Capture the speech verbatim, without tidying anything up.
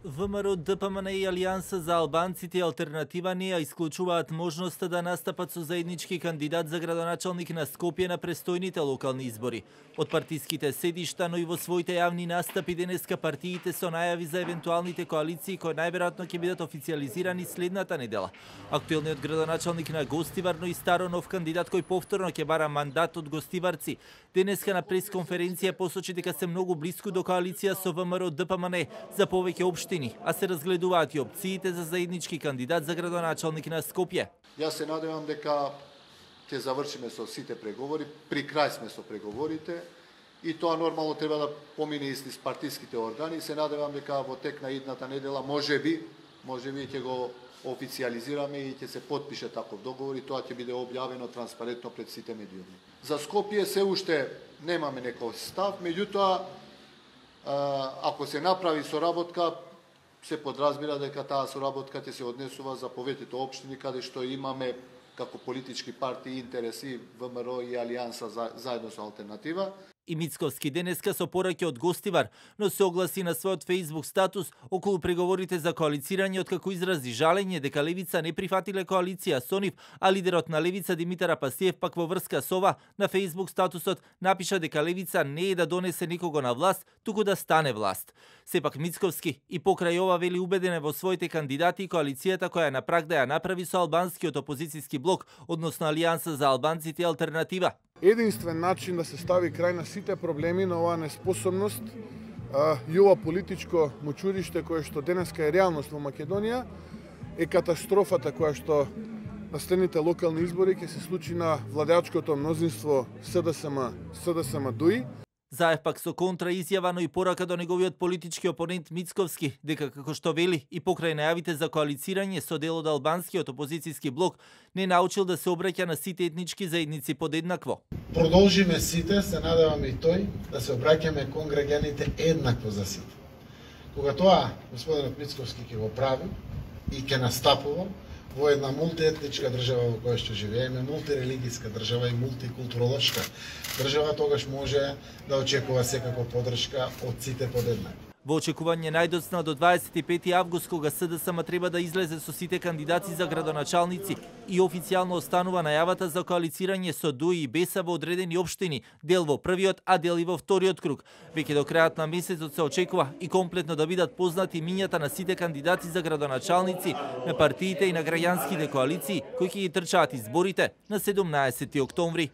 ВМРО, ДПМН и Алијанса за албанците и Алтернатива не ја исклучуваат можноста да настапат со заеднички кандидат за градоначалник на Скопје на престојните локални избори. Од партиските седишта, но и во своите јавни настапи денеска партиите со најави за евентуалните коалиции кои најверојатно ќе бидат официјализирани следната недела. Актуелниот градоначалник на Гостивар, но и старо нов кандидат кој повторно ќе бара мандат од гостиварци, денеска на пресконференција посочи дека се многу блиску до коалиција со ВМРО ДПМН за повеќе општини, а се разгледуваат и опциите за заеднички кандидат за градоначалник на Скопје. Јас се надевам дека ќе завршиме со сите преговори, при крај сме со преговорите и тоа нормално треба да помине и с партиските органи. Се надевам дека во тек на идната недела можеби, можеби ќе го официјализираме и ќе се потпише таков договор и тоа ќе биде објавено транспарентно пред сите медиуми. За Скопје се уште немаме некој став, меѓутоа ако се направи соработка, се подразбира дека таа соработка ќе се однесува за повеќето општини каде што имаме како политички партии интереси ВМРО и Алијанса за, заедно со Алтернатива. И Мицковски денеска со пораќа од Гостивар, но се огласи на својот Facebook статус околу преговорите за коалицирање, откако изрази жалење дека Левица не прифатиле коалиција со нив, а лидерот на Левица Димитар Апасиев пак во врска со ова на Facebook статусот напиша дека Левица не е да донесе никого на власт, туку да стане власт. Сепак Мицковски и покрај ова вели убеден е во своите кандидати и коалицијата која на праг да ја направи со албанскиот опозицијски блок, односно Алијанса за албанците и Алтернатива. Единствен начин да се стави крај на сите проблеми на оваа неспособност а, и ова политичко мочуриште кое што денеска е реалност во Македонија е катастрофата која што на следните локални избори ќе се случи на владеачкото мнозинство СДСМ, СДСМ-ДУИ. Заев пак со контра изјава, но и порака до неговиот политички опонент Мицковски, дека како што вели и покрај најавите за коалицирање со дел од албанскиот опозицијски блок, не научил да се обраќа на сите етнички заедници подеднакво. Продолжиме сите, се надеваме и тој, да се обраќаме кон граѓаните еднакво за сите. Кога тоа господинот Мицковски ќе го прави и ќе настапува во една мултиетничка држава во која што живееме, мултирелигијска држава и мултикултуролошка држава, тогаш може да очекува секако поддршка од сите подеднакво. Во очекување најдоцна до дваесет и пети август, кога СДСМ треба да излезе со сите кандидати за градоначалници и официјално останува најавата за коалицирање со ДУИ и БЕСА во одредени општини, дел во првиот, а дел и во вториот круг. Веќе до крајот на месецот се очекува и комплетно да бидат познати имињата на сите кандидати за градоначалници, на партиите и на граѓанските коалиции кои ќе ги трчаат изборите на седумнаесети октомври.